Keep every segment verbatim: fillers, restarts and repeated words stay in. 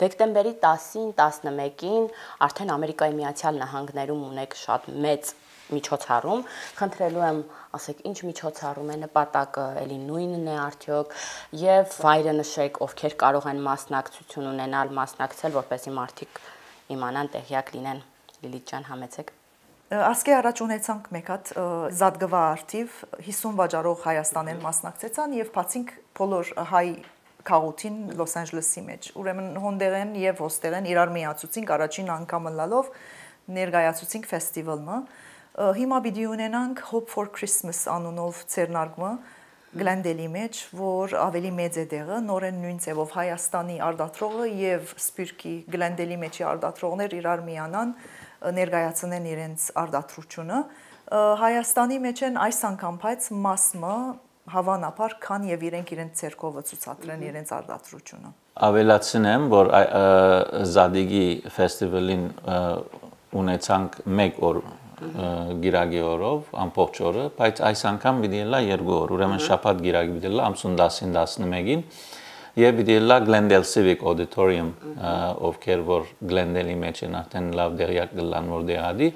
Դեկտեմբերի տասին, տասնմեկին արդեն Ամերիկայի Միացյալ Նահանգներում ունեք շատ մեծ միջոցառում, խնդրելու եմ, ասեք, ինչ միջոցառում է, նպատակը էլի նույնն է արդյոք, եւ վայրը նշեք, ովքեր կարող են մասնակցություն ունենալ, մասնակցել, որպեսզի մարդիկ իմանան, տեղյակ լինեն։ Լիլիթ ջան, համեցեք։ Ասկե առաջ ունեցանք մեկ հատ զատգվա արդիվ հիսուն վաճառող Հայաստանեն մասնակցեցան եւ բացինք բոլոր հայ քաղաքին Լոս Անջելեսի մեջ։ Ուրեմն հոնդերեն եւ հոստերեն իրար միացուցինք առաջին անգամը լալով ներկայացուցինք ֆեստիվալը։ Հիմա պիտի ունենանք Hope for Christmas անունով ցերնարգումը Գլենդելի մեջ, որ ավելի մեծ է դեղը, նորեն նույն ձևով Հայաստանի արդատրողը եւ Սպիրկի Գլենդելի մեջի արդատրողներ իրար միանան ներկայացնեն իրենց արդատրությունը։ Հայաստանի մեջ են այս անգամ բայց մասը հավանաբար քան եւ իրենք իրենց ցերկովը ցուցադրեն իրենց արդատրությունը։ Ավելացնեմ, որ Զադիգի ֆեստիվալին ունեցանք մեկ օր գիրագի օրով, ամբողջ օրը, բայց այս անգամ պիտի լա երկու օր, ուրեմն շաբաթ գիրագի պիտի լա ամսուն տասին տասնմեկին եւ պիտի լա Glendale Civic Auditorium, ովքեր որ Glendale-ի մեջ են արդեն լավ դերյակ գլան որ դեղադի։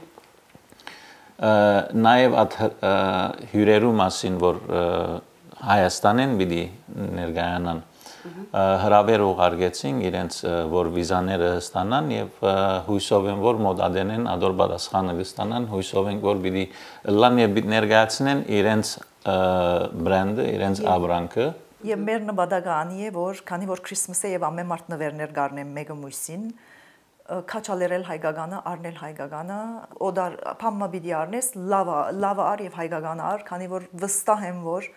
Նաեւ այդ հյուրերու մասին, որ Հայաստանեն պիտի ներկայանան, հրավեր ուղարկեցին իրենց որ վիզաները ստանան եւ հույսով են որ մոդադենեն ադոր պատասխանը կստանան հույսով են որ պիտի լան եւ ներկայացնեն իրենց բրենդը իրենց ապրանքը եւ մեր նպատակը անի է որ քանի որ Քրիսմասը եւ ամեն մարդ նվերներ գարնեն մեկը մույսին քաչալերել հայկականը առնել հայկականը օդար փամմա պիտի առնես լավա լավա առ եւ հայկականը առ քանի որ վստահ եմ որ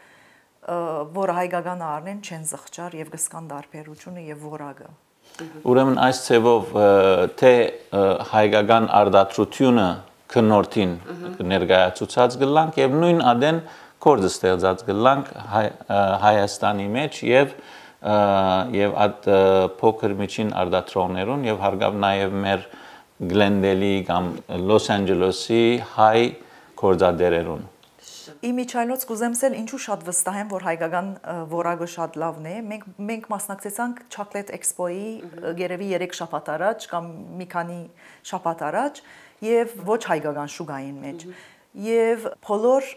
որ հայկական առնեն չեն զղջար եւ կսկան դարբերությունը եւ որակը։ Ուրեմն այս ցևով թե հայկական արդատրությունը քննորդին ներկայացուցած գլանք եւ նույն ադեն կորձ ստեղծած գլանք Հայաստանի մեջ եւ եւ այդ փոքր միջին արդատրողներուն եւ հարգավ նաեւ մեր Գլենդելի կամ Լոս Անջելեսի հայ կորձադերերուն։ Իմիջայլոց կուզեմսել ինչու շատ վստահ եմ, որ հայկական որակը շատ լավն է։ Մենք մենք մասնակցեցանք Chocolate Expo-ի գերեւի երեք շաբաթ առաջ կամ մի քանի շաբաթ առաջ եւ ոչ հայկական շուկային մեջ։ Եվ բոլոր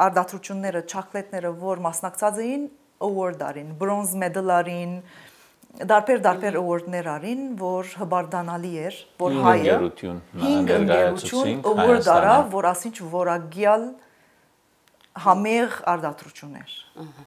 արդատրությունները, chocolate-ները, որ մասնակցած էին, award արին, bronze medal արին, դարբեր դարբեր award-ներ արին, որ հբարդանալի էր, որ հայը հինգ ընկերություն award արավ, որ ասինչ որակյալ համեղ արդատրություններ։